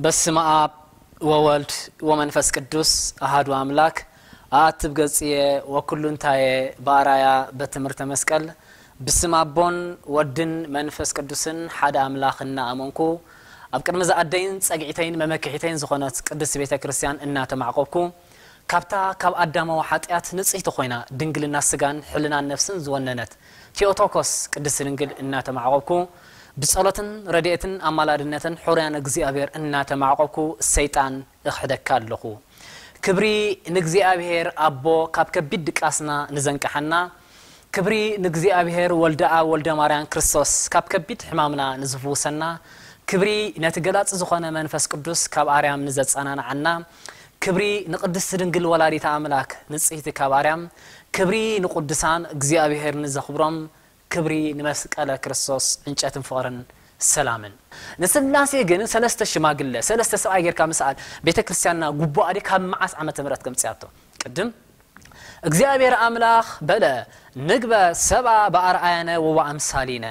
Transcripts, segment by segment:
በስመ አብ ወወልድ ወመንፈስ ቅዱስ አሃዱ አምላክ። አአትብ ገጽየ ወኩሉ እንታየ በአራያ በትምህርተ መስቀል። ብስም አቦን ወድን መንፈስ ቅዱስን ሓደ አምላኽ እናኣመንኩ፣ ኣብ ቅድሚ ዝኣደይን ጸግዒተይን መመክሒተይን ዝኾነት ቅድስት ቤተ ክርስቲያን እናተማዕቆብኩ፣ ካብታ ካብ ኣዳማዊ ሓጢኣት ንጽሕቲ ኮይና ድንግልና ስጋን ሕልናን ነፍስን ዝወነነት ቴኦቶኮስ ቅድስት ድንግል እናተማዕቆብኩ፣ ብጸሎትን ረድኤትን ኣማላድነትን ሕሩያን እግዚኣብሔር እናተማዕቆብኩ፣ ሰይጣን እኽሕደካ ኣለኹ። ክብሪ ንእግዚኣብሔር ኣቦ፣ ካብ ከቢድ ድቃስና ንዘንቀሓና። ክብሪ ንእግዚኣብሔር ወልደ ኣብ ወልደ ማርያም ክርስቶስ፣ ካብ ከቢድ ሕማምና ንዝፍውሰና። ክብሪ ነቲ ገላጺ ዝኾነ መንፈስ ቅዱስ፣ ካብ ኣርያም ንዘጸናንዓና። ክብሪ ንቅድስቲ ድንግል ወላዲተ ኣምላክ፣ ንጽሕቲ ካብ ኣርያም። ክብሪ ንቅዱሳን፣ እግዚኣብሔር ንዘኽብሮም። ክብሪ ንመስቀለ ክርስቶስ፣ ዕንጨትን ፍቕርን ሰላምን። ንስላሴ ግን ሰለስተ ሽማግለ፣ ሰለስተ ሰብኣይ ጌርካ ምስኣል ቤተ ክርስቲያንና ጉቡኣ ድዩ? ካብ መዓስ ዓመተ ምህረት ከምጽያቶ? ቅድም እግዚኣብሔር ኣምላኽ በለ፣ "ንግበ ሰብኣ በኣርኣያነ ወበኣምሳሊነ"፣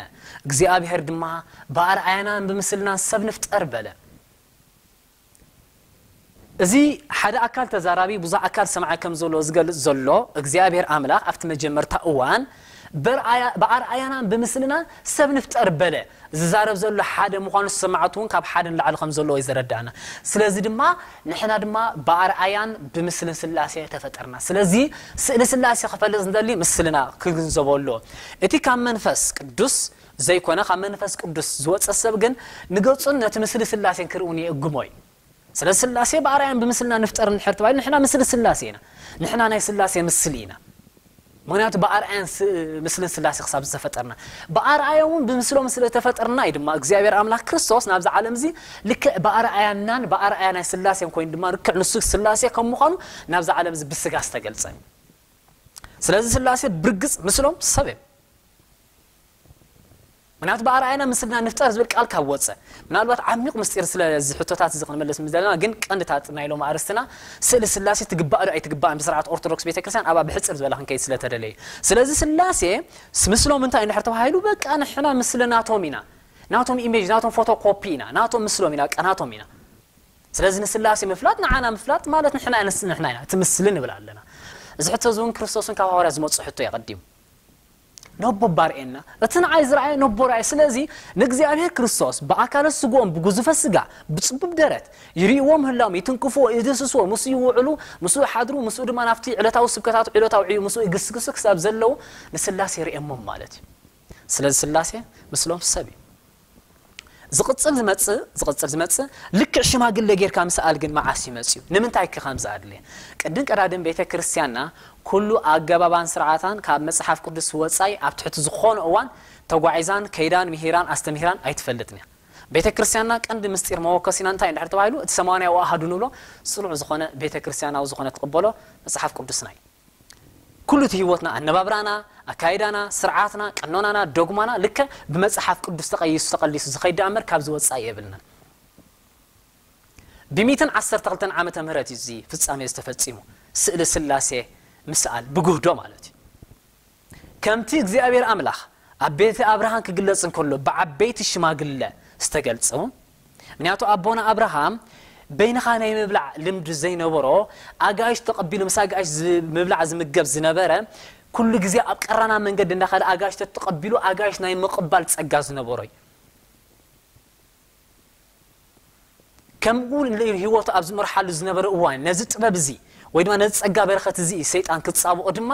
እግዚኣብሔር ድማ፣ "ብኣርኣያናን ብምስልናን ሰብ ንፍጠር" በለ። እዚ ሓደ ኣካል ተዛራቢ ብዙሕ ኣካል ሰማዒ ከም ዘሎ ዝገልጽ ዘሎ እግዚኣብሔር ኣምላኽ ኣብቲ መጀመርታ እዋን፣ "በርኣያ-፣ ብኣርኣያናን ብምስልናን ሰብ ንፍጠር" በለ። ዝዛረብ ዘሎ ሓደ ምዃኑ፣ ሰማዕቱ እውን ካብ ሓደ ንላዕሊ ከም ዘለዎ እዩ ዘረዳእና። ስለዚ ድማ ንሕና ድማ ብኣርኣያን ብምስልን ስላሴ ተፈጠርና። ስለዚ ስእሊ ስላሴ ክፈልጥ ዝደሊ ምስልና ክግንዘቦ ኣለዎ። እቲ ካብ መንፈስ ቅዱስ ዘይኮነ፣ ካብ መንፈስ ቅዱስ ዝወጸ ሰብ ግን ንገጹን ነቲ ምስሊ ስላሴን ክርእውን የእግሞ እዩ። ስለዚ ስላሴ ብኣርኣያን ብምስልና ንፍጠር እንድሕር ተባሂሉ፣ ንሕና ምስሊ ስላሴ ኢና። ንሕና ናይ ስላሴ ምስሊ ኢና። ምኽንያቱ ብኣርኣያን ስ-፣ ምስልን ስላሴ ክሳብ ዝተፈጠርና፣ ብኣርኣዮምን ብምስሎም ስለ ተፈጠርና እዩ ድማ እግዚኣብሔር ኣምላኽ ክርስቶስ ናብዚ ዓለም እዚ ልክዕ ብኣርኣያናን ብኣርኣያ ናይ ስላሴን ኮይኑ ድማ ልክዕ ንሱ ስላሴ ከም ምዃኑ ናብዚ ዓለም እዚ ብስጋ ዝተገልጸ። ስለዚ ስላሴ ብርግጽ ምስሎም ሰብ እዮም። ምክንያቱ ብኣርኣያና ምስልና ንፍጠር ዝብል ቃል ካብ ወፀ፣ ምናልባት ዓሚቕ ምስጢር ስለዚ ሕቶታት እዚ ክንመልስ ምስ ዘለና፣ ግን ቀንድታት ናይ ሎም ኣርእስትና ስእሊ ስላሴ ትግባእ ዶ ኣይትግባእን ብስርዓት ኦርቶዶክስ ቤተክርስትያን ኣብኣ ብሕፅር ዝበለ ክንከይድ ስለተደለየ። ስለዚ ስላሴ ስ-፣ ምስሎም እንታይ እንድሕር ተባሂሉ፣ በቃ ንሕና ምስሊ ናቶም ኢና፣ ናቶም ኢሜጅ፣ ናቶም ፎቶኮፒ ኢና፣ ናቶም ምስሎም ኢና፣ በቃ ናቶም ኢና። ስለዚ ንስላሴ ምፍላጥ ንዓና ምፍላጥ ማለት ንሕና ንስ-፣ ንሕና ኢና እቲ ምስሊ ንብል ኣለና። እዚ ሕቶ እዚ እውን ክርስቶስን ካብ ሃዋርያ ዝመፅእ ሕቶ እዩ ቀዲሙ። ነቦ ባርኤና፣ እቲ ንዓይ ዝረኣየ ነቦ ረኣየ። ስለዚ ንእግዚኣብሔር ክርስቶስ ብኣካለ ስግኦም ብጉዙፈ ስጋ ብጽቡብ ደረት ይርእይዎ ምህላዎም፣ ይትንክፍዎ፣ ይድህስስዎ፣ ምስኡ ይውዕሉ፣ ምስኡ ይሓድሩ፣ ምስኡ ድማ ናብቲ ዕለታዊ ስብከታቱ፣ ዕለታዊ ዕዩ ምስኡ ይግስግሱ ክሳብ ዘለዉ ንስላሴ ይርእየሞም ማለት እዩ። ስለዚ ስላሴ ምስሎም ሰብ እዩ። ዝቕጽል ዝመጽእ፣ ዝቕጽል ዝመጽእ ልክዕ ሽማግለ ጌርካ ምስኣል ግን መዓስ እዩ መጽዩ? ንምንታይ ከ ከምዚ ኣድልየ? ቅድም ቀዳድም ቤተ ክርስቲያንና ኩሉ ኣገባባን ስርዓታን ካብ መጽሓፍ ቅዱስ ወጻኢ ኣብ ትሕቲ ዝኾነ እዋን ተጓዒዛን ከይዳን ምሂራን ኣስተምሂራን ኣይትፈልጥን እያ። ቤተ ክርስቲያንና ቀንዲ ምስጢር መወከሲና እንታይ እንድሕር ተባሂሉ፣ እቲ ሰማንያዊ ኣሃዱ ንብሎ ጽኑዕ ዝኾነ ቤተ ክርስቲያናዊ ዝኾነ ትቕበሎ መጽሓፍ ቅዱስና እዩ። ኩሉ እቲ ህይወትና፣ ኣነባብራና፣ ኣካይዳና፣ ስርዓትና፣ ቀኖናና፣ ዶግማና ልክዕ ብመጽሓፍ ቅዱስ ተቐይሱ ተቐሊሱ ዝኸይድ ደኣ እምበር ካብዚ ወጻኢ የብልናን። ብሚእትን ዓሰርተ ክልተን ዓመተ ምህረት እዩ እዚ ፍጻሜ ዝተፈጺሙ። ስእሊ ስላሴ ምስኣል ብጉህዶ ማለት እዩ። ከምቲ እግዚኣብሔር ኣምላኽ ኣብ ቤተ ኣብርሃም ክግለጽ እንከሎ ብዓበይቲ ሽማግለ ዝተገልጸ እውን፣ ምክንያቱ ኣቦና ኣብርሃም በይንኻ ናይ ምብላዕ ልምዲ ዘይነበሮ፣ ኣጋይሽ ተቐቢሉ ምስ ኣጋይሽ ዝ-፣ ምብላዕ ዝምገብ ዝነበረ፣ ኩሉ ግዜ ኣብ ቀራና መንገዲ እንዳኸደ ኣጋይሽ ተተቐቢሉ ኣጋይሽ ናይ ምቕባል ጸጋ ዝነበሮ እዩ። ከምኡ እውን ህይወቱ ኣብ ዝመርሓሉ ዝነበረ እዋን ነዚ ጥበብ እዚ ወይ ድማ ነዚ ጸጋ በረኸት እዚ ሰይጣን ክጻብኦ ድማ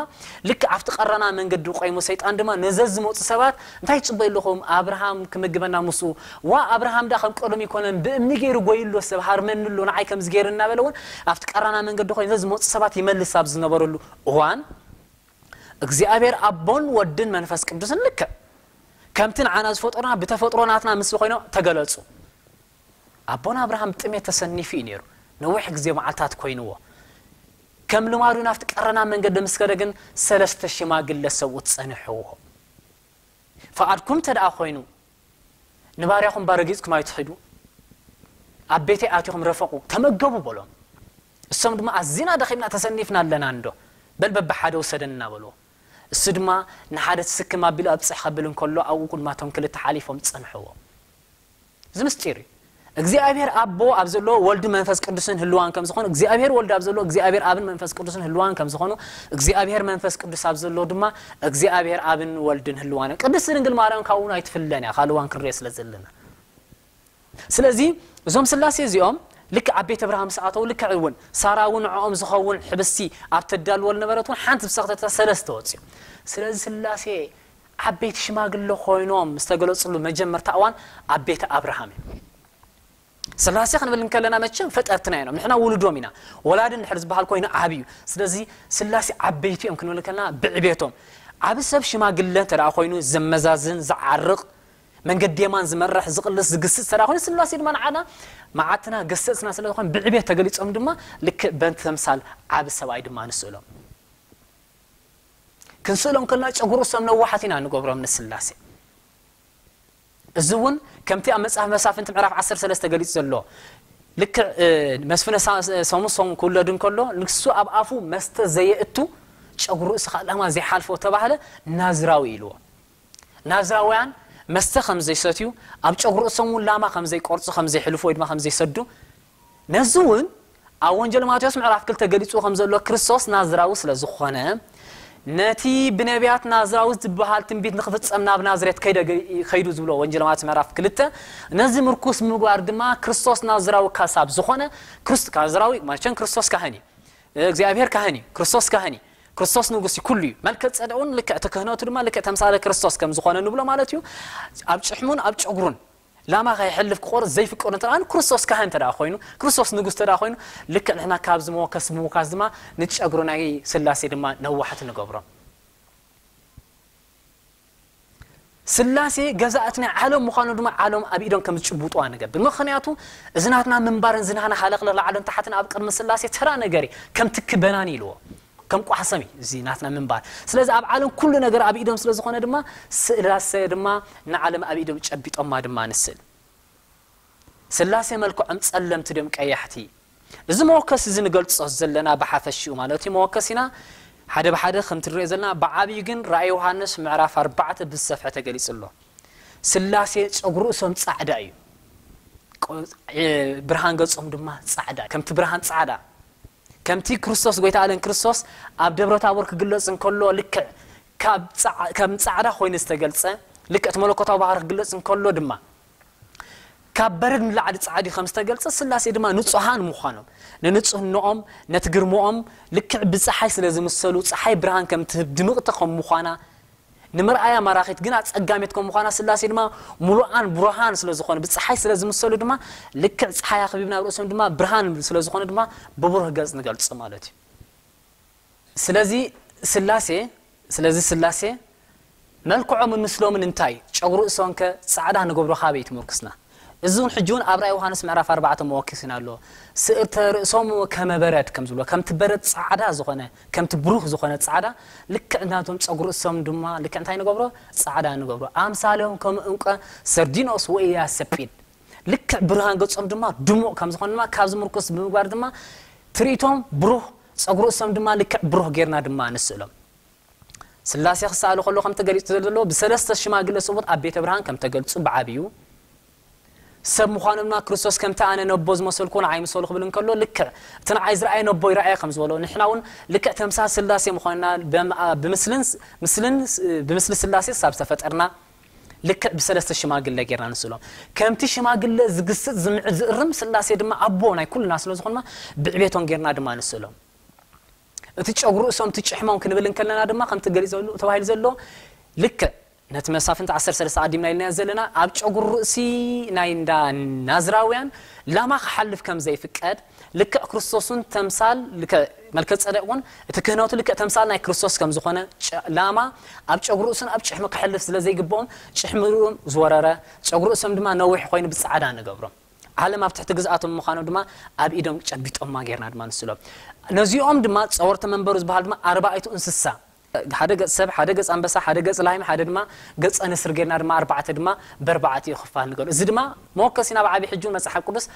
ልክዕ ኣብቲ ቀራና መንገዲ ቆይሙ ሰይጣን ድማ ነዘ ዝመፁ ሰባት እንታይ ትጽበዩ ኣለኹም ኣብርሃም ክምግበና ምስኡ ዋ ኣብርሃም ዳ ከም ቀደም ይኮነን ብእምኒ ገይሩ ጎይሎ ሰብ ሃርመኒ ኣሎ ንዓይ ከምዚ ገይሩ እናበለ እውን ኣብቲ ቀራና መንገዲ ኮይኑ ነዚ ዝመፁ ሰባት ይመልስ ኣብ ዝነበረሉ እዋን እግዚኣብሔር ኣቦን ወድን መንፈስ ቅዱስን ልክዕ ከምቲ ንዓና ዝፈጠሩና ብተፈጥሮ ናትና ምስሊ ኮይኖም ተገለጹ። ኣቦና ኣብርሃም ብጥሜት ተሰኒፉ እዩ ነይሩ። ነዊሕ ግዜ መዓልታት ኮይንዎ። ከም ልማዱ ናብቲ ቀረና መንገዲ ምስ ከደ ግን ሰለስተ ሽማግለ ሰብኡት ጸንሕዎ። ፍቓድኩም እንተ ደኣ ኮይኑ ንባርያኹም ባረጊጽኩም ኣይትኺዱ። ኣብ ቤተይ ኣቲኹም ረፈቑ፣ ተመገቡ በሎም። እሶም ድማ ኣዚና ደኺምና ተሰኒፍና ኣለና እንዶ፣ በል በብሓደ ውሰደና በልዎ። እሱ ድማ ንሓደ ትስክም ኣቢሉ ኣብጽሕ ከብል እንከሎ ኣብኡ ቅድማቶም ክልተ ሓሊፎም ጸንሕዎ። እዚ ምስጢር እዩ። እግዚኣብሔር ኣቦ ኣብ ዘሎ ወልድ መንፈስ ቅዱስን ህልዋን ከም ዝኾኑ፣ እግዚኣብሔር ወልድ ኣብ ዘሎ እግዚኣብሔር ኣብን መንፈስ ቅዱስን ህልዋን ከም ዝኾኑ፣ እግዚኣብሔር መንፈስ ቅዱስ ኣብ ዘሎ ድማ እግዚኣብሔር ኣብን ወልድን ህልዋን። ቅድስቲ ድንግል ማርያም ካብኡ ኣይትፍለን እያ፣ ካልዋን ክንሪኦ ስለ ዘለና። ስለዚ እዞም ስላሴ እዚኦም ልክዕ ኣብ ቤት ኣብርሃም ምስ ኣተው፣ ልክዕ እውን ሳራ እውን ንዕኦም ዝኸውን ሕብስቲ ኣብ ተዳልወል ነበረት እውን ሓንቲ ዝሰኽተታ ሰለስተ ወፅዮም። ስለዚ ስላሴ ዓበይቲ ሽማግለ ኮይኖም ዝተገለፅሉ መጀመርታ እዋን ኣብ ቤተ ኣብርሃም እዩ። ስላሴ ክንብል እንከለና መቸም ፈጠርትና እዮም፣ ንሕና ውሉዶም ኢና። ወላዲ እንድሕር ዝበሃል ኮይኑ ዓብዩ። ስለዚ ስላሴ ዓበይቲ እዮም ክንብል እንከለና ብዕቤቶም። ዓብ ሰብ ሽማግለ እንተ ደኣ ኮይኑ ዘመዛዝን፣ ዝዓርቕ፣ መንገዲ የማን ዝመርሕ፣ ዝቕልስ፣ ዝግስጽ እንተ ደኣ ኮይኑ፣ ስላሴ ድማ ንዓና መዓትና ገሰጽና ስለ ዝኾነ ብዕቤት ተገሊጾም ድማ ልክዕ በንቲ ተምሳል ዓብ ሰብኣይ ድማ ንስእሎም። ክንስእሎም ከለና ጨጉሩ ሰም ነዋሓት ኢና ንገብሮም ንስላሴ። እዚ እውን ከምቲ ኣብ መጽሓፍ መሳፍንቲ ምዕራፍ ዓሰርተ ሰለስተ ገሊጹ ዘሎ፣ ልክዕ፣ እ፣ መስፍነ ሳ-፣ ሰሙሶን ክውለድ እንከሎ፣ ንሱ ኣብ ኣፉ መስተ ዘየእቱ ጨጉሩ ርእሱ ኸኣ ላማ ዘይሓልፎ ተባህለ ናዝራዊ ኢልዎ። ናዝራውያን መስተ ከም ዘይሰትዩ፣ ኣብ ጨጉሩ ርእሶም እውን ላማ ከም ዘይቆርጹ፣ ከም ዘይሕልፉ ወይ ድማ ከም ዘይሰዱ፣ ነዚ እውን ኣብ ወንጀል ማቴዎስ ምዕራፍ ክልተ ገሊጹ ከም ዘሎ ክርስቶስ ናዝራዊ ስለ ዝኾነ፣ ነቲ ብነቢያት ናዝራዊ ዝበሃል ትንቢት ንኽፍጸም ናብ ናዝሬት ከይደ-፣ ከይዱ ዝብሎ ወንጀል ማቴዎስ ምዕራፍ ክልተ፣ ነዚ ምርኩስ ምግባር ድማ ክርስቶስ ናዝራዊ ካሳብ ዝኾነ ክርስ-፣ ናዝራዊ መቸም ክርስቶስ ካህን እዩ። እግዚኣብሔር ካህን እዩ። ክርስቶስ ካህን እዩ። ክርስቶስ ንጉስ እዩ። ኩሉ እዩ። መልከ ጸደቅ እውን ልክዕ እቲ ክህነቱ ድማ ልክዕ ተምሳለ ክርስቶስ ከም ዝኾነ ንብሎ ማለት እዩ። ኣብ ጭሕሙን ኣብ ጨጉሩን ላማ ከይሕልፍ ክቆርጽ ዘይፍቀዱ እንተ ደኣ ክርስቶስ ካህን እንተ ደኣ ኮይኑ፣ ክርስቶስ ንጉስ እንተ ደኣ ኮይኑ፣ ልክዕ ንሕና ካብዚ መወከስ ብምውካስ ድማ ንጨጉሩ ናይ ስላሴ ድማ ነዋሕቲ ንገብሮም። ስላሴ ገዛእቲ ናይ ዓለም ምዃኑ ድማ ዓለም ኣብ ኢዶም ከም ዝጭብጡዋ ንገብር። ምኽንያቱ እዚ ናትና ምንባርን እዚ ናትና ሃለቕለቕ ላዕልን ታሕትን ኣብ ቅድሚ ስላሴ ተራ ነገር እዩ። ከም ትኪ በናኒ ኢልዎ። ከም ቋሕሰም እዩ እዚ ናትና ምንባር። ስለዚ ኣብ ዓለም ኩሉ ነገር ኣብ ኢዶም ስለ ዝኾነ ድማ ስላሴ ድማ ንዓለም ኣብ ኢዶም ጨቢጦማ ድማ ንስእል። ስላሴ መልክዖም ጸለምቲ ድዮም ቀያሕቲ? እዚ መወከሲ እዚ ንገልጾ ዘለና ብሓፈሽኡ ማለት እዩ። መወከሲና ሓደ ብሓደ ከምቲ ንሪኦ ዘለና፣ ብዓብዩ ግን ራእይ ዮሃንስ ምዕራፍ ኣርባዕተ ብዝሰፍሐ ተገሊጹ ኣሎ። ስላሴ ጸጉሪ ርእሶም ጻዕዳ እዩ። ቆ-፣ እ፣ ብርሃን ገጾም ድማ ጻዕዳ፣ ከምቲ ብርሃን ጻዕዳ። ከምቲ ክርስቶስ፣ ጎይታ ኣለን ክርስቶስ ኣብ ደብረ ታቦር ክግለጽ እንከሎ ልክዕ ካብ ጻዕ-፣ ከም ጻዕዳ ኮይኑ ዝተገልጸ፣ ልክዕ እቲ መለኮታዊ ባህሪ ክግለጽ እንከሎ ድማ ካብ በረድ ንላዕሊ ጻዕዲ ከም ዝተገልጸ፣ ስላሴ ድማ ንጹሃን ምዃኖም፣ ንንጹህነኦም፣ ነቲ ግርምኦም፣ ልክዕ ብጸሓይ ስለ ዝምሰሉ፣ ጸሓይ ብርሃን ከም ትህብ ድምቕቲ ከም ምዃና፣ ንምርኣያ ማራኺት ግን ኣጸጋሚት ከም ምዃና፣ ስላሴ ድማ ምሉኣን ብሩሃን ስለ ዝኾኑ፣ ብጸሓይ ስለ ዝምሰሉ ድማ፣ ልክዕ ጸሓይ ኣኽቢብና ኣብ ርእሶም ድማ ብርሃን ስለ ዝኾነ ድማ ብብሩህ ገጽ ንገልጾ ማለት እዩ። ስለዚ ስላሴ፣ ስለዚ ስላሴ መልክዖምን ምስሎምን እንታይ? ጨጉሪ ርእሶም ከ ጻዕዳ ንገብሮ ካበይ ትምርኩስና? እዚ እውን ሕጂ እውን ኣብ ራእይ ዮሃንስ ምዕራፍ ኣርባዕተ መወኪስና ኣሎ። ስእርተ ርእሶም ከመ በረድ ከም ዝብሎ፣ ከምቲ በረድ ጻዕዳ ዝኾነ፣ ከምቲ ብሩህ ዝኾነ ጻዕዳ፣ ልክዕ ናቶም ጸጉሪ ርእሶም ድማ ልክዕ እንታይ ንገብሮ? ጻዕዳ ንገብሮ። ኣምሳሎም ከም ዕንቀ ሰርዲኖስ ወኢያሰጲድ። ልክዕ ብርሃን ገጾም ድማ ድሙቕ ከም ዝኾነ ድማ ካብዚ ምርኩስ ብምግባር ድማ ትርኢቶም ብሩህ፣ ጸጉሪ ርእሶም ድማ ልክዕ ብሩህ ጌርና ድማ ንስእሎም። ስላሴ ክሰኣሉ ከሎ ከምቲ ገሊጹ ዘሎ ብሰለስተ ሽማግለ ስቡት ኣብ ቤተ ብርሃን ከም ተገልጹ ብዓብዩ ሰብ ምዃኖም ድማ ክርስቶስ ከምቲ ኣነ ነቦ ዝመሰልኩ ንዓይ ምሰሉ ክብል እንከሎ ልክዕ እቲ ንዓይ ዝረኣየ ነቦ ይረኣየ ከም ዝበሎ ንሕና እውን ልክዕ ተምሳል ስላሴ ምዃንና በም-፣ ኣ-፣ ብምስልን ስ-፣ ምስልን ስ-፣ ብምስሊ ስላሴ ሳብ ዝተፈጠርና ልክዕ ብሰለስተ ሽማግለ ጌርና ንስእሎም። ከምቲ ሽማግለ ዝግስጽ ዝምዕድ ዝእርም ስላሴ ድማ ኣቦ ናይ ኩልና ስለ ዝኾንና ብዕቤቶም ጌርና ድማ ንስእሎም። እቲ ጨጉሪ ርእሶም፣ እቲ ጭሕሞም ክንብል እንከለና ድማ ከምቲ ገሊጽ ዘሎ፣ ተባሂሉ ዘሎ ልክዕ ነቲ መሳፍንቲ ዓሰርተ ሰለስተ ኣዲምና ኢልና ዘለና ኣብ ጨጉሪ ርእሲ ናይ እንዳ ናዝራውያን ላማ ክሓልፍ ከም ዘይፍቀድ ልክዕ ክርስቶስን ተምሳል ልክዕ መልከ ጸደቅ እውን እቲ ክህነቱ ልክዕ ተምሳል ናይ ክርስቶስ ከም ዝኾነ ጨ-፣ ላማ ኣብ ጨጉሪ ርእሱን ኣብ ጭሕሚ ክሕልፍ ስለ ዘይግብኦም ጭሕሚ ርእሶም ዝወረረ ጨጉሪ ርእሶም ድማ ነዊሕ ኮይኑ ብጻዕዳ ንገብሮም። ዓለም ኣብ ትሕቲ ግዝኣቶም ምዃኖም ድማ ኣብ ኢዶም ጨቢጦማ ጌርና ድማ ንስሎም። ነዚኦም ድማ ጸወርቲ መንበሩ ዝበሃል ድማ ኣርባዕቱ እንስሳ፣ ሓደ ገጽ ሰብ፣ ሓደ ገጽ ኣንበሳ፣ ሓደ ገጽ ላህሚ፣ ሓደ ድማ ገጸ ንስር ጌርና ድማ ኣርባዕተ ድማ በርባዕቲኡ ክፋል ንገሩ። እዚ ድማ መወከሲና ብዓቢ ሕጂ እውን መጽሓፍ ቅዱስ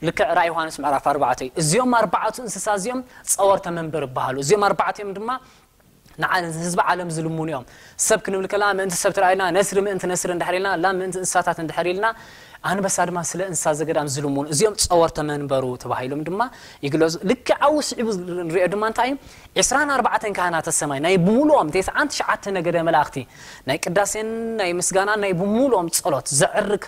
ልክዕ ራእይ ዮሃንስ ምዕራፍ ኣርባዕተ እዩ። እዚኦም ኣርባዕቱ እንስሳ እዚኦም ጸወርተ መንበር ይበሃሉ። እዚኦም ኣርባዕቲኦም ድማ ንዓ ህዝቢ ዓለም ዝልምኑ እዮም። ሰብ ክንብል ከላ ምእንቲ ሰብ ተራኢልና፣ ነስሪ ምእንቲ ነስሪ እንድሕር ኢልና፣ ላም ምእንቲ እንስሳታት እንድሕር ኢልና፣ ኣንበሳ ድማ ስለ እንስሳ ዘገዳም ዝልምኑ፣ እዚኦም ጸወርተ መንበሩ ተባሂሎም ድማ ይግለጹ። ልክዕ ኣብኡ ስዒቡ ንሪኦ ድማ እንታይ እዩ? ዕስራን ኣርባዕተን ካህናተ ሰማይ ናይ ብምሉኦም ተስዓን ትሽዓተ ነገደ መላእኽቲ ናይ ቅዳሴን ናይ ምስጋናን ናይ ብምሉኦም ጸሎት ዘዕርግ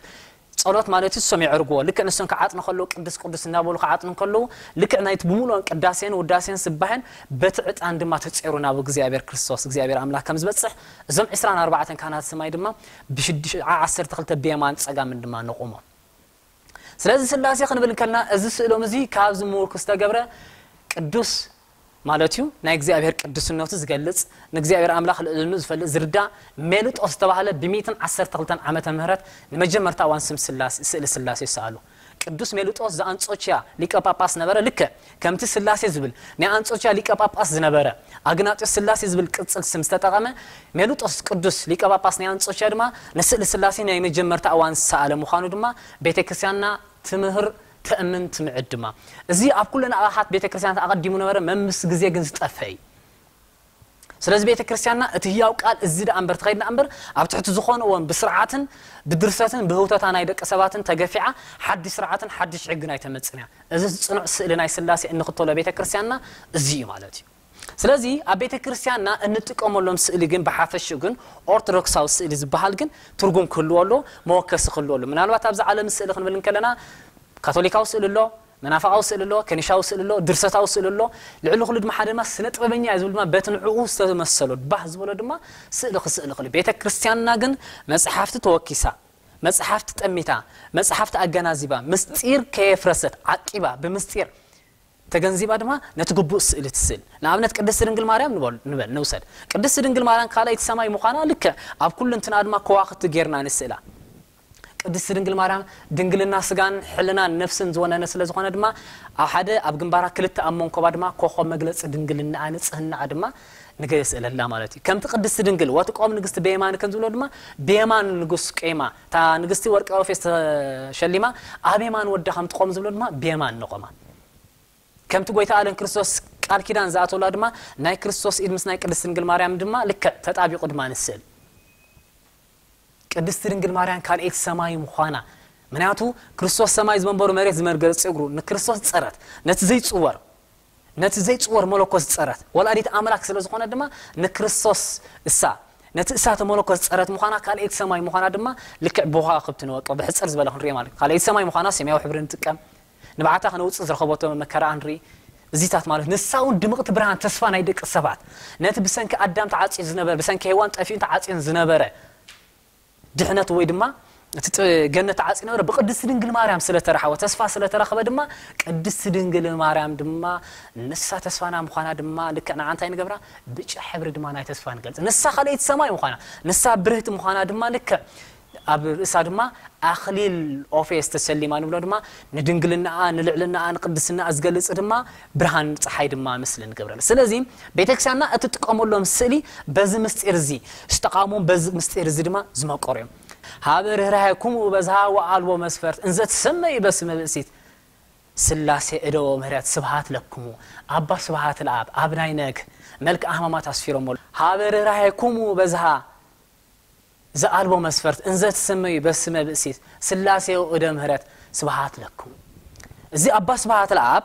ጸሎት ማለት እዩ። እሶም የዕርግዎ። ልክዕ ንሶም ክዓጥኑ ከለዉ ቅዱስ ቅዱስ እናበሉ ክዓጥኑ ከለዉ ልክዕ ናይቲ ብምሉኦም ቅዳሴን ውዳሴን ስባሕን በቲ ዕጣን ድማ ተጸይሩ ናብ እግዚኣብሔር ክርስቶስ እግዚኣብሔር ኣምላኽ ከም ዝበጽሕ እዞም ዕስራን ኣርባዕተን ካህናት ሰማይ ድማ ብሽዱሽተ ዓሰርተ ክልተ ብየማን ጸጋምን ድማ ነቑሞ። ስለዚ ስላሴ ክንብል እንከልና እዚ ስእሎም እዚ ካብዚ ምውርኩ ዝተገብረ ቅዱስ ማለት እዩ ናይ እግዚኣብሔር ቅዱስነቱ ዝገልጽ ንእግዚኣብሔር ኣምላኽ ልዕልኑ ዝፈልጥ ዝርዳእ ሜልጦስ ዝተባህለ ብ ሚእትን ዓሰርተ ክልተን ዓመተ ምህረት ንመጀመርታ እዋን ስም ስላሴ ስእሊ ስላሴ ይሰኣሉ። ቅዱስ ሜልጦስ ዘኣንጾችያ ሊቀ ጳጳስ ነበረ። ልክዕ ከምቲ ስላሴ ዝብል ናይ ኣንጾችያ ሊቀ ጳጳስ ዝነበረ ኣግናጢዮስ ስላሴ ዝብል ቅጽል ስም ዝተጠቐመ ሜልጦስ ቅዱስ ሊቀ ጳጳስ ናይ ኣንጾችያ ድማ ንስእሊ ስላሴ ናይ መጀመርታ እዋን ዝሰኣለ ምዃኑ ድማ ቤተ ክርስቲያንና ትምህር ተእምን ትምዕድ ድማ። እዚ ኣብ ኩለን ኣቕሓት ቤተ ክርስቲያናት ኣቐዲሙ ነበረ፣ መምስ ግዜ ግን ዝጠፍአ እዩ። ስለዚ ቤተ ክርስቲያንና እቲ ህያው ቃል እዚ ደኣ እምበር ተኸይድና እምበር ኣብ ትሕቲ ዝኾነ እዋን ብስርዓትን ብድርሰትን ብህውተታ ናይ ደቂ ሰባትን ተገፊዓ ሓድሽ ስርዓትን ሓድሽ ሕግን ኣይተመጽእን እያ። እዚ ጽኑዕ ስእሊ ናይ ስላሴ እንኽተሎ ቤተ ክርስቲያንና እዚ እዩ ማለት እዩ። ስለዚ ኣብ ቤተ ክርስቲያንና እንጥቀመሎም ስእሊ ግን ብሓፈሽኡ ግን ኦርቶዶክሳዊ ስእሊ ዝበሃል ግን ትርጉም ክህልዎ ኣሎ፣ መወከሲ ክህልዎ ኣሎ። ምናልባት ኣብዚ ዓለም ስእሊ ክንብል እንከለና ካቶሊካዊ ስእሊ ኣሎ፣ መናፍቃዊ ስእሊ ኣሎ፣ ከኒሻዊ ስእሊ ኣሎ፣ ድርሰታዊ ስእሊ ኣሎ። ልዕሊ ኩሉ ድማ ሓደ ድማ ስነ ጥበበኛ እዩ ዝብል ድማ በቲ ንዕኡ ዝተመሰሎ ባህ ዝበሎ ድማ ስእሊ ክስእሊ ክእል። ቤተ ክርስቲያንና ግን መጽሓፍቲ ተወኪሳ፣ መጽሓፍቲ ጠሚታ፣ መጽሓፍቲ ኣገናዚባ፣ ምስጢር ከየፍረሰት ዓቂባ ብምስጢር ተገንዚባ ድማ ነቲ ግቡእ ስእሊ ትስእል። ንኣብነት ቅድስቲ ድንግል ማርያም ንበል ንበል ንውሰድ። ቅድስቲ ድንግል ማርያም ካልኣይቲ ሰማይ ምዃና ልክዕ ኣብ ኩሉ እንትንኣ ድማ ከዋኽብቲ ጌርና ንስእላ። ቅድስቲ ድንግል ማርያም ድንግልና ስጋን ሕልናን ነፍስን ዝወነነ ስለ ዝኾነ ድማ ኣብ ሓደ ኣብ ግንባራ ክልተ ኣብ መንኮባ ድማ ኮኾብ መግለጺ ድንግልናኣ ንጽህናኣ ድማ ንገ ስእለላ ማለት እዩ። ከምቲ ቅድስቲ ድንግል ወትቆም ንግስቲ በየማን ከም ዝብሎ ድማ ብየማን ንጉስ ቆይማ እታ ንግስቲ ወርቂ ኦፌስ ተሸሊማ ኣብ የማን ወዳ ከም ትቆም ዝብሎ ድማ ብየማን ንቆማ። ከምቲ ጎይታ ኣለን ክርስቶስ ቃል ኪዳን ዝኣተወላ ድማ ናይ ክርስቶስ ኢድ ምስ ናይ ቅድስቲ ድንግል ማርያም ድማ ልክዕ ተጣቢቑ ድማ ንስእል። ቅድስቲ ድንግል ማርያም ካልኤት ሰማይ ምዃና ምክንያቱ ክርስቶስ ሰማይ ዝመንበሩ መሬት ዝመርገጽ እግሩ ንክርስቶስ ጸረት ነቲ ዘይጽወር ነቲ ዘይጽወር መለኮት ጸረት ወላዲት ኣምላክ ስለ ዝኾነ ድማ ንክርስቶስ እሳ ነቲ እሳተ መለኮት ጸረት ምዃና ካልኤት ሰማይ ምዃና ድማ ልክዕ ብኸዋክብቲ ንወቀ ብሕጽር ዝበለ ክንሪኦ ማለት ካልኤት ሰማይ ምዃና ሰማያዊ ሕብሪ ንጥቀም ንብዓታ ከነውፅእ ዝረኸበቶ መከራ ንርኢ። እዚታት ማለት ንሳ እውን ድምቕቲ ብርሃን ተስፋ ናይ ደቂ ሰባት ነቲ ብሰንኪ ኣዳም ተዓፅዩ ዝነበረ ብሰንኪ ሄዋን ጠፊኡን ተዓፅዩን ዝነበረ ድሕነት ወይ ድማ እቲ ገነት ተዓፅዩ ነበረ ብቅድስቲ ድንግል ማርያም ስለተረሓወ ተስፋ ስለተረኸበ ድማ ቅድስቲ ድንግል ማርያም ድማ ንሳ ተስፋና ምዃና ድማ ልክዕ ንዓ እንታይ ንገብራ ብጫ ሕብሪ ድማ ናይ ተስፋ ንገልፅ ንሳ ካልኣይቲ ሰማይ ምዃና ንሳ ብርህቲ ምዃና ድማ ልክዕ ኣብ ርእሳ ድማ ኣኽሊል ኦፌስ ተሰሊማ ንብሎ ድማ ንድንግልናኣ ንልዕልናኣ ንቅድስናኣ ዝገልጽ ድማ ብርሃን ፀሓይ ድማ ምስሊ ንገብረል ስለዚ ቤተክርስቲያንና እትጥቀመሎም ስእሊ በዚ ምስጢር እዚ ዝተቃሞም በዚ ምስጢር እዚ ድማ ዝመቀሩ እዮም ሃበ ርህራሄ ኩምኡ በዝሃ ወኣልቦ መስፈርት እንዘ ትሰመዩ በስመ ብእሲት ስላሴ እደወ ምህረት ስብሃት ለክሙ ኣባ ስብሃት ለኣብ ኣብ ናይ ነግ መልክ ኣህማማት ኣስፊሮሞ ሃበ ርህራሄ ኩምኡ በዝሃ ዝኣልቦ መስፈርት እንዘ ትሰመዩ በስመ ብእሲት ስላሴው እደ ምህረት ስብሃት ለኩም። እዚ ኣባ ስብሃት ለኣብ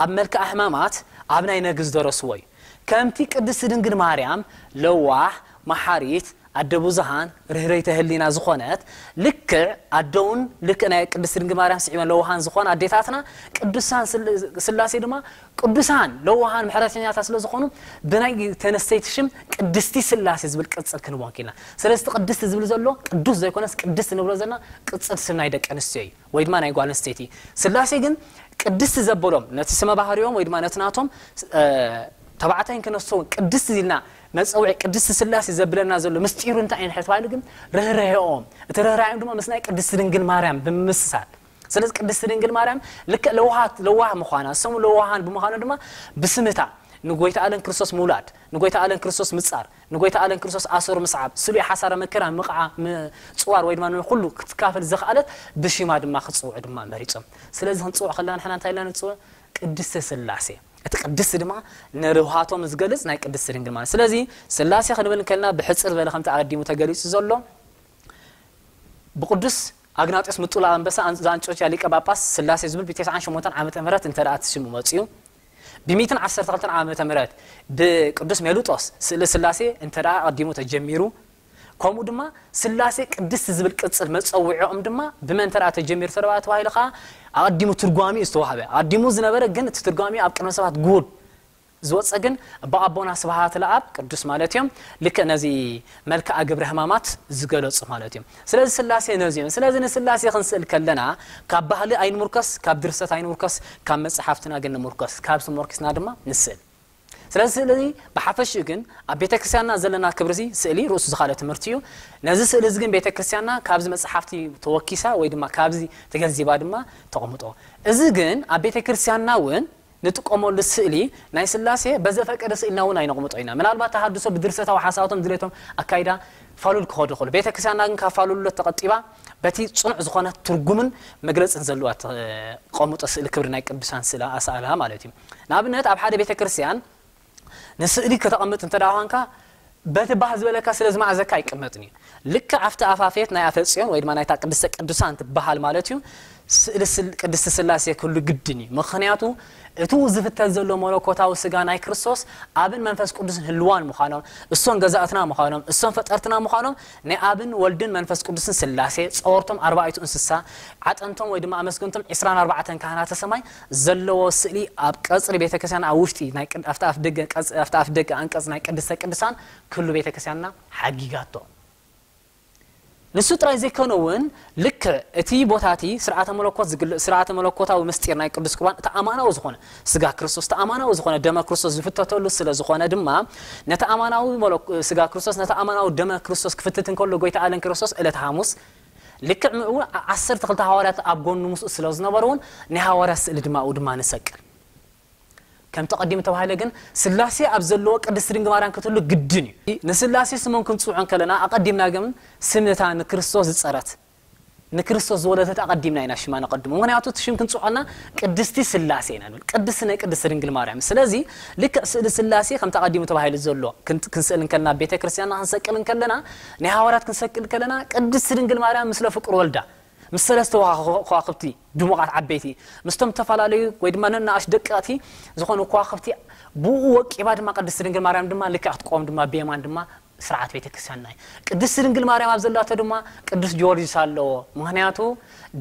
ኣብ መልክዓ ሕማማት ኣብ ናይ ነግ ዝደረስዎ እዩ። ከምቲ ቅድስቲ ድንግል ማርያም ለዋህ፣ መሓሪት፣ ኣደ ብዙሃን፣ ርህርህተ ህሊና ዝኾነት ልክዕ ኣደውን ልክዕ ናይ ቅድስቲ ድንግል ማርያም ስዒበን ለዋሃን ዝኾን ኣዴታትና ቅዱሳን ስላሴ ድማ ቅዱሳን ለዋሃን ምሕረተኛታት ስለ ዝኾኑ ብናይ ተነስተይቲ ሽም ቅድስቲ ስላሴ ዝብል ቅጽል ክንቦን ክኢልና። ስለዚ እቲ ቅድስቲ ዝብል ዘሎ ቅዱስ ዘይኮነስ ቅድስቲ ንብሎ ዘለና ቅጽል ስም ናይ ደቂ ኣንስትዮ እዩ ወይ ድማ ናይ ጓል ኣንስተይቲ። ስላሴ ግን ቅድስቲ ዘበሎም ነቲ ስመ ባህሪኦም ወይ ድማ ነቲ ናቶም ተባዕታይን ክነስቶውን ቅድስቲ ኢልና መጸውዒ ቅድስቲ ስላሴ ዘብለና ዘሎ ምስጢሩ እንታይ እዩ ንሕተባሉ ግን ርህራሄኦም እቲ ርህራሄኦም ድማ ምስ ናይ ቅድስቲ ድንግል ማርያም ብምምስሳል ስለዚ ቅድስቲ ድንግል ማርያም ልክዕ ለዋሃት ለዋህ ምዃና ስሙ ለዋሃን ብምዃኑ ድማ ብስምታ ንጎይታ ኣለን ክርስቶስ ምውላድ ንጎይታ ኣለን ክርስቶስ ምጻር ንጎይታ ኣለን ክርስቶስ ኣሰሩ ምስዓብ ስሉይ ሓሳረ መከራ ምቕዓ ምጽዋር ወይ ድማ ንኩሉ ክትካፈል ዘኽኣለት ብሽማ ድማ ክጽውዑ ድማ መሪጾም ስለዚ ክንጽውዕ ከለና ንሕና እንታይ ኢልና ንጽውዕ ቅድስተ ስላሴ እቲ ቅድስቲ ድማ ንርህዋቶም ዝገልጽ ናይ ቅድስቲ ድንግል ማለት። ስለዚ ስላሴ ክንብል እንከልና ብሕጽር ዝበለ ከምቲ ኣቐዲሙ ተገሊጹ ዘሎ ብቅዱስ ኣግናጢዮስ ምጡላ ኣንበሳ ኣን- ዘኣንጾኪያ ሊቀ ጳጳስ ስላሴ ዝብል ብ ተስዓን ሸሞንተን ዓመተ ምህረት እንተ ደኣ እቲ ሽሙ መጺኡ ብ ሚእትን ዓሰርተ ክልተን ዓመተ ምህረት ብቅዱስ ሜሉጦስ ስእሊ ስላሴ እንተ ደኣ ኣቐዲሙ ተጀሚሩ፣ ከምኡ ድማ ስላሴ ቅድስቲ ዝብል ቅጽል መጸውዒኦም ድማ ብመን እንተ ደኣ ተጀሚሩ ተደኣ ተባሂሉ ከኣ ኣቐዲሙ ትርጓሚኡ ዝተዋህበ፣ ኣቐዲሙ ዝነበረ ግን እቲ ትርጓሚኡ ኣብ ቅድሚ ሰባት ግሁድ ዝወፀ ግን ብኣቦና ስብሃት ለኣብ ቅዱስ ማለት እዮም። ልክዕ ነዚ መልክዓ ግብረ ሕማማት ዝገለፁ ማለት እዮም። ስለዚ ስላሴ ነዚ እዮም። ስለዚ ንስላሴ ክንስእል ከለና ካብ ባህሊ ኣይንሙርከስ፣ ካብ ድርሰት ኣይንሙርከስ፣ ካብ መፅሓፍትና ግን ንሙርከስ። ካብ ዝሞርኪስና ድማ ንስእል። ስለዚ ስእሊ ብሓፈሽኡ ግን ኣብ ቤተ ክርስቲያንና ዘለና ክብሪ እዚ ስእሊ ርእሱ ዝኻለ ትምህርቲ እዩ። ነዚ ስእሊ እዚ ግን ቤተ ክርስቲያንና ካብዚ መፅሓፍቲ ተወኪሳ ወይ ድማ ካብዚ ተገንዚባ ድማ ተቐምጦ። እዚ ግን ኣብ ቤተ ክርስቲያንና እውን ንጥቀመሉ ስእሊ ናይ ስላሴ በዘፈቀደ ስእልና እውን ኣይነቕምጦ ኢና። ምናልባት ተሃድሶ ብድርሰታዊ ሓሳባቶም ድሌቶም ኣካይዳ ፋሉል ክኸዱ ይኽእሉ። ቤተ ክርስቲያንና ግን ካብ ፋሉልነት ተቐጢባ በቲ ጽኑዕ ዝኾነ ትርጉምን መግለጽን ዘለዋ ተቐምጦ ስእሊ ክብሪ ናይ ቅዱሳን ስእላ ኣስኣላ ማለት እዩ። ንኣብነት ኣብ ሓደ ቤተ ክርስቲያን ንስእሊ ከተቐምጥ እንተ ደኣ ኳንካ በቲ ባህ ዝበለካ ስለ ዝመኣዘካ ኣይቅመጥን እዩ። ልክዕ ኣብቲ ኣፋፌት ናይ ኣፈጽዮን ወይ ድማ ናይታ ቅድስተ ቅዱሳን ትበሃል ማለት እዩ ስእሊ ስል- ቅድስቲ ስላሴ ክህሉ ግድን እዩ። ምኽንያቱ እቱ ዝፍተት ዘሎ መለኮታዊ ስጋ ናይ ክርስቶስ ኣብን መንፈስ ቅዱስን ህልዋን ምዃኖም፣ እሶም ገዛእትና ምዃኖም፣ እሶም ፈጠርትና ምዃኖም ናይ ኣብን ወልድን መንፈስ ቅዱስን ስላሴ ጸወርቶም ኣርባዕቱ እንስሳ ዓጠንቶም ወይ ድማ ኣመስገንቶም ዕስራን ኣርባዕተን ካህናተ ሰማይ ዘለዎ ስእሊ ኣብ ቀጽሪ ቤተክርስትያን ኣብ ውሽጢ ናይ ቅድ- ኣብቲ ኣፍ ደገ ቀጽ- ኣብቲ ኣፍ ደገ ኣንቀጽ ናይ ቅድስተ ቅዱሳን ክህሉ ቤተክርስትያንና ሓጊጋቶ። ንሱ ጥራይ ዘይኮነ እውን ልክዕ እቲ ቦታ እቲ ስርዓተ መለኮት ዝግል- ስርዓተ መለኮታዊ ምስጢር ናይ ቅዱስ ቁርባን እቲ ኣማናዊ ዝኾነ ስጋ ክርስቶስ እቲ ኣማናዊ ዝኾነ ደመ ክርስቶስ ዝፍተተሉ ስለ ዝኾነ ድማ ነቲ ኣማናዊ መለኮ- ስጋ ክርስቶስ ነቲ ኣማናዊ ደመ ክርስቶስ ክፍትት እንከሎ ጎይታ ኣለን ክርስቶስ ዕለት ሓሙስ ልክዕ ምእው ዓሰርተ ክልተ ሃዋርያት ኣብ ጎኑ ምስኡ ስለ ዝነበሩ እውን ናይ ሃዋርያት ስእሊ ድማ ኣብኡ ድማ ንሰቅል። ከምቲ ቀዲሙ ተባሂለ ግን ስላሴ ኣብ ዘለዎ ቅድስቲ ድንግል ማርያም ክትህሉ ግድን እዩ። ንስላሴ ስሞም ክንጽውዖ እንከለና ኣቐዲምና ግን ስም ነታ ንክርስቶስ ዝጸረት ንክርስቶስ ዝወለደት ኣቐዲምና ኢና ሽማ ነቐድሞ። ምኽንያቱ እቲ ሽም ክንጽውዖና ቅድስቲ ስላሴ ኢና ንብል። ቅድስቲ ናይ ቅድስቲ ድንግል ማርያም። ስለዚ ልክዕ ስእሊ ስላሴ ከምቲ ኣቐዲሙ ተባሂሉ ዘሎ ክን- ክንስእል እንከለና ቤተ ክርስቲያንና ክንሰቅል እንከለና ናይ ሃዋርያት ክንሰቅል ከለና ቅድስቲ ድንግል ማርያም ምስለ ፍቁር ወልዳ ምስ ሰለስተ ከዋ- ከዋኽብቲ ድሙቓት ዓበይቲ ምስቶም ዝተፈላለዩ ወይ ድማ ነናእሽ ደቀቕቲ ዝኾኑ ከዋኽብቲ ብኡ ወቂባ ድማ ቅድስቲ ድንግል ማርያም ድማ ልክዕ ክትቆም ድማ ብየማን ድማ ስርዓት ቤተክርስትያንና እዩ። ቅድስቲ ድንግል ማርያም ኣብ ዘላቶ ድማ ቅዱስ ጊዮርጊስ ኣለዎ። ምኽንያቱ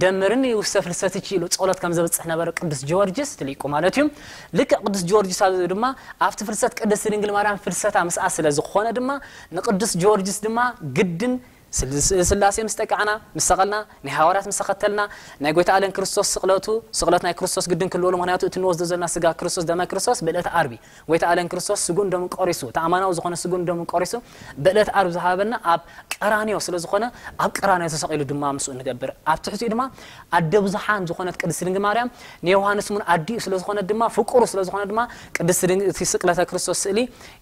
ደምርኒ ውስተ ፍልሰትኪ ኢሉ ጸሎት ከም ዘብጽሕ ነበረ ቅዱስ ጊዮርጊስ ትሊቁ ማለት እዩ። ልክዕ ቅዱስ ጊዮርጊስ ኣብ ድማ ኣብቲ ፍልሰት ቅድስቲ ድንግል ማርያም ፍልሰታ ምስኣ ስለ ዝኾነ ድማ ንቅዱስ ጊዮርጊስ ድማ ግድን ስል- ስል- ስላሴ ምስ ጠቃዕና ምስ ሰቐልና ናይ ሃዋርያት ምስ ተኸተልና ናይ ጎይታ ኣለን ክርስቶስ ስቕለቱ ስቕለት ናይ ክርስቶስ ግድን ክልወሉ ምኽንያቱ እቲ ንወስዶ ዘለና ስጋ ክርስቶስ ደመ ክርስቶስ ብእለት ዓርቢ ጎይታ ኣለን ክርስቶስ ስጉን ደሙን ቆሪሱ እቲ ኣማናዊ ዝኾነ ስጉን ደሙን ቆሪሱ ብእለት ዓርቢ ዝሃበና ኣብ ቀራንዮ ስለ ዝኾነ ኣብ ቀራንዮ ተሰቒሉ ድማ ምስኡ ንገብር ኣብ ትሕቲኡ ድማ ኣደ ብዙሓን ዝኾነት ቅድስቲ ድንግል ማርያም ንዮሃንስ እውን ኣዲኡ ስለ ዝኾነ ድማ ፍቁሩ ስለ ዝኾነ ድማ ቅድስቲ ድንግ- እቲ ስቅለተ ክርስቶስ ስእሊ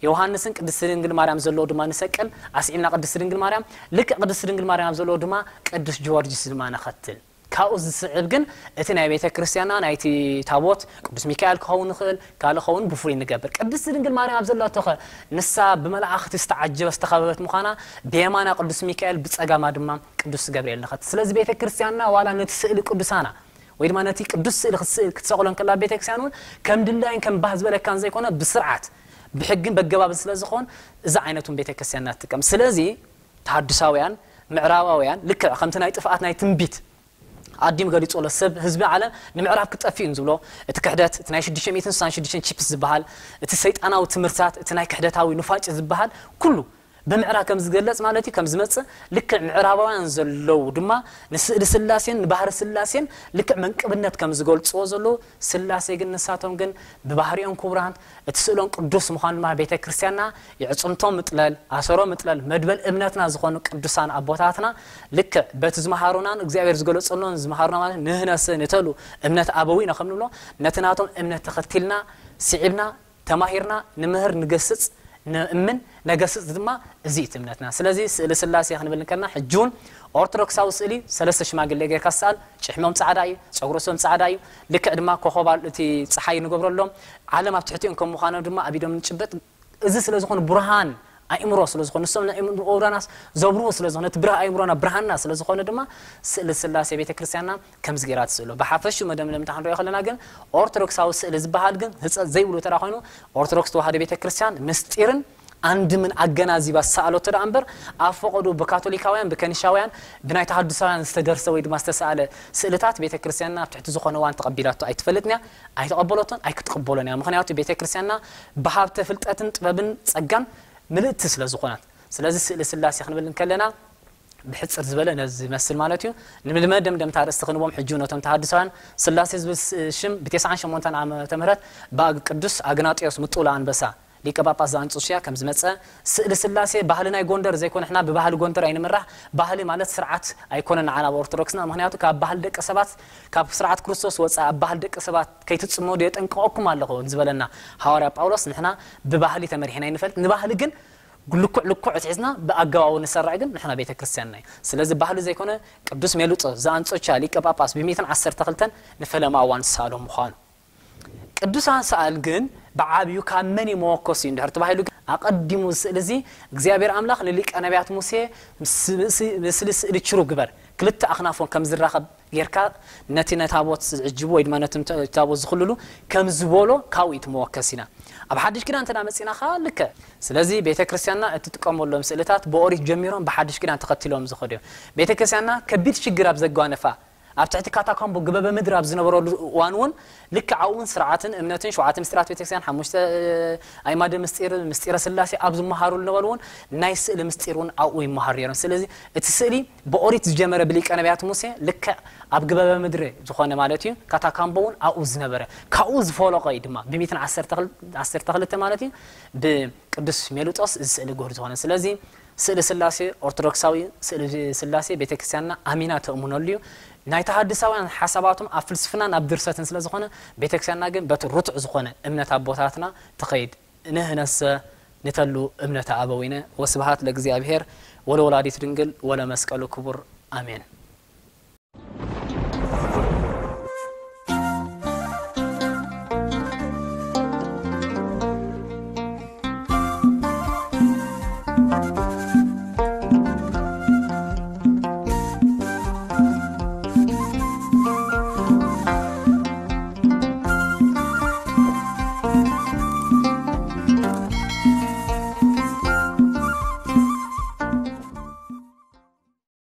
ዮሃንስን ቅድስቲ ድንግል ማርያም ዘለዎ ድማ ንሰቅል ኣስዒምና ቅድስቲ ድንግል ማርያም ልክዕ ቅድስቲ ድንግል ማርያም ኣብ ዘለዎ ድማ ቅዱስ ጊዮርጊስ ድማ ነኸትል። ካብኡ ዝስዕብ ግን እቲ ናይ ቤተ ክርስቲያንና ናይቲ ታቦት ቅዱስ ሚካኤል ክኸውን ይኽእል ካልእ ክኸውን ብፍሉይ ንገብር። ቅድስቲ ድንግል ማርያም ኣብ ዘላቶ ኸ ንሳ ብመላእኽቲ ዝተዓጀበ ዝተኸበበት ምዃና ብየማና ቅዱስ ሚካኤል ብጸጋማ ድማ ቅዱስ ገብርኤል ንኸትል። ስለዚ ቤተ ክርስቲያንና ዋላ ነቲ ስእሊ ቅዱሳና ወይ ድማ ነቲ ቅዱስ ስእሊ ክትስእል ክትሰቕሎ እንከላ ቤተ ክርስቲያን እውን ከም ድላይን ከም ባህ ዝበለካን ዘይኮነ ብስርዓት ብሕግን በገባብን ስለ ዝኾን እዚ ዓይነት እውን ቤተ ክርስቲያንና ትጥቀም። ስለዚ ተሃድሳውያን ምዕራባውያን ልክዕ ከምቲ ናይ ጥፍኣት ናይ ትንቢት ኣዲም ገሊጹ ኣሎ ሰብ ህዝቢ ዓለም ንምዕራብ ክጠፍእ እዩ ዝብሎ እቲ ክሕደት እቲ ናይ ሽዱሽተ ሚእትን ስሳን ሽዱሽተን ቺፕስ ዝበሃል እቲ ሰይጣናዊ ትምህርትታት እቲ ናይ ክሕደታዊ ኑፋጭ ዝበሃል ኩሉ ብምዕራብ ከም ዝገለጽ ማለት እዩ ከም ዝመጽእ ልክዕ ምዕራባውያን ዘለዉ ድማ ንስእሊ ስላሴን ንባህሪ ስላሴን ልክዕ መንቅብነት ከም ዝገልጽዎ ዘለዉ ስላሴ ግን ንሳቶም ግን ብባህሪኦም ክቡራን እቲ ስእሎም ቅዱስ ምዃኑ ድማ ቤተ ክርስቲያንና የዕጽምቶም ምጥለል ኣሰሮ ምጥለል መድበል እምነትና ዝኾኑ ቅዱሳን ኣቦታትና ልክዕ በቲ ዝመሃሩናን እግዚኣብሔር ዝገለጸሎን ዝመሃሩና ማለት ንህነሰ ንተሉ እምነት ኣበዊነ ከም ንብሎ ነቲ ናቶም እምነት ተኸቲልና ስዒብና ተማሂርና ንምህር ንገስጽ ንእምን፣ ነገስጽ ድማ እዚ እቲ እምነትና። ስለዚ ስእሊ ስላሴ ክንብል እንከልና ሕጂ እውን ኦርቶዶክሳዊ ስእሊ ሰለስተ ሽማግሌ ጌርካ ዝሰኣል፣ ጭሕሞም ጻዕዳ እዩ፣ ጸጉሪ ርእሶም ጻዕዳ እዩ። ልክዕ ድማ ኮኸብ እቲ ጸሓይ ንገብረሎም፣ ዓለም ኣብ ትሕቲኦም ከም ምዃኖም ድማ ኣብ ኢዶም ንጭበጥ። እዚ ስለ ዝኾነ ብርሃን ኣእምሮ ስለ ዝኾነ ንሶም ንኣእምሮናስ ዘብርሁ ስለ ዝኾነ እቲ ብርሃ ኣእምሮና ብርሃንና ስለ ዝኾነ ድማ ስእሊ ስላሴ ቤተ ክርስቲያንና ከምዚ ገይራ ትስእሎ። ብሓፈሽኡ መደምደምታ ክንሪኦ ከለና ግን ኦርቶዶክሳዊ ስእሊ ዝበሃል ግን ህጸት ዘይብሉ ተራ ኮይኑ ኦርቶዶክስ ተዋህዶ ቤተ ክርስቲያን ምስጢርን ኣንድምን ኣገናዚባ ዝሰኣለቶ ደኣ እምበር ኣብ ፈቐዱ ብካቶሊካውያን ብከኒሻውያን ብናይ ተሃድሳውያን ዝተደርሰ ወይ ድማ ዝተሰኣለ ስእልታት ቤተ ክርስቲያንና ኣብ ትሕቲ ዝኾነ እዋን ተቐቢላቶ ኣይትፈልጥን እያ፣ ኣይተቐበለቶን ኣይክትቕበሎን እያ። ምኽንያቱ ቤተ ክርስቲያንና ብሃብተ ፍልጠትን ጥበብን ጸጋን ምልእቲ ስለ ዝኾነት። ስለዚ ስእሊ ስላሴ ክንብል እንከለና ብሕጽር ዝበለ ነዚ ዝመስል ማለት እዩ። ንመደምደምታ ርእስቲ ክንቦም ሕጂ ነቶም ተሃድሳውያን ስላሴ ዝብል ስ- ሽም ብ98 ዓመተ ምህረት ብኣግ ቅዱስ ኣግናጢዮስ ምጡላ ኣንበሳ ሊቀ ጳጳስ ዘኣንጾሽያ ከም ዝመጸ ስእሊ ስላሴ ባህሊ ናይ ጎንደር ዘይኮነ ሕና ብባህሊ ጎንደር ኣይንምራሕ። ባህሊ ማለት ስርዓት ኣይኮነን ንዓና ኣብ ኦርቶዶክስና። ምኽንያቱ ካብ ባህሊ ደቂ ሰባት ካብ ስርዓት ክርስቶስ ወጻኢ ኣብ ባህሊ ደቂ ሰባት ከይትጽመዱ የጠንቅቐኩም ኣለኹ ዝበለና ሃዋርያ ጳውሎስ ንሕና ብባህሊ ተመሪሕና ይንፈልጥ። ንባህሊ ግን ልኩዕ ልኩዕ ሒዝና ብኣገባቡ ንሰርዕ ግን ንሕና ቤተ ክርስቲያንና እዩ። ስለዚ ባህሊ ዘይኮነ ቅዱስ ሜሉጦ ዘኣንጾቻ ሊቀ ጳጳስ ብ112 ንፈለማ እዋን ዝሰኣሎ ምዃኑ። ቅዱሳን ሰኣል ግን ብዓብዩ ካብ መን እዩ መወከሲ እንድሕር ተባሂሉ ግን ኣቐዲሙ ስእሊ እዚ እግዚኣብሔር ኣምላኽ ንሊቀ ነቢያት ሙሴ ምስ- ምስ- ምስሊ ስእሊ ችሩ ግበር ክልተ ኣኽናፎን ከም ዝራኸብ ጌርካ ነቲ ነታቦት ዝዕጅቡ ወይ ድማ ነቲ ታቦት ዝኽልሉ ከም ዝበሎ ካብኡ እዩ እቲ መወከሲና። ኣብ ሓድሽ ኪዳን እንተ መጺና ከዓ ልክዕ። ስለዚ ቤተ ክርስቲያንና እትጥቀመሎም ስእልታት ብኦሪት ጀሚሮም ብሓድሽ ኪዳን ተኸቲሎም ዝኸዱ እዮም። ቤተ ክርስቲያንና ከቢድ ሽግር ኣብ ዘጓነፋ ኣብ ትሕቲ ካታኮምቦ ግበበ ምድሪ ኣብ ዝነበረሉ እዋን እውን ልክዕ ኣብኡ እውን ስርዓትን እምነትን ሸውዓተ ምስጢራት ቤተክርስትያን ሓሙሽተ ኣእማደ ምስጢር ምስጢረ ስላሴ ኣብ ዝመሃሩ ዝነበሩ እውን ናይ ስእሊ ምስጢር እውን ኣብኡ ይመሃሩ ነይሮም። ስለዚ እቲ ስእሊ ብኦሪት ዝጀመረ ብሊቀ ነቢያት ሙሴ ልክዕ ኣብ ግበበ ምድሪ ዝኾነ ማለት እዩ ካታካምቦ እውን ኣብኡ ዝነበረ ካብኡ ዝፈለቐ እዩ ድማ ብ112 ማለት እዩ ብቅዱስ ሜሉጦስ እዚ ስእሊ ግሁር ዝኾነ። ስለዚ ስእሊ ስላሴ ኦርቶዶክሳዊ ስእሊ ስላሴ ቤተክርስትያንና ኣሚና ተእምነሉ እዩ። ናይ ተሃድሳውያን ሓሳባቶም ኣብ ፍልስፍናን ኣብ ድርሰትን ስለ ዝኾነ ቤተክርስትያንና ግን በቲ ርቱዕ ዝኾነ እምነት ኣቦታትና ትኸይድ። ንህነሰ ንተሉ እምነተ ኣበዊነ ወስብሃት ለእግዚኣብሔር ወለወላዲት ድንግል ወለመስቀሉ ክቡር ኣሜን።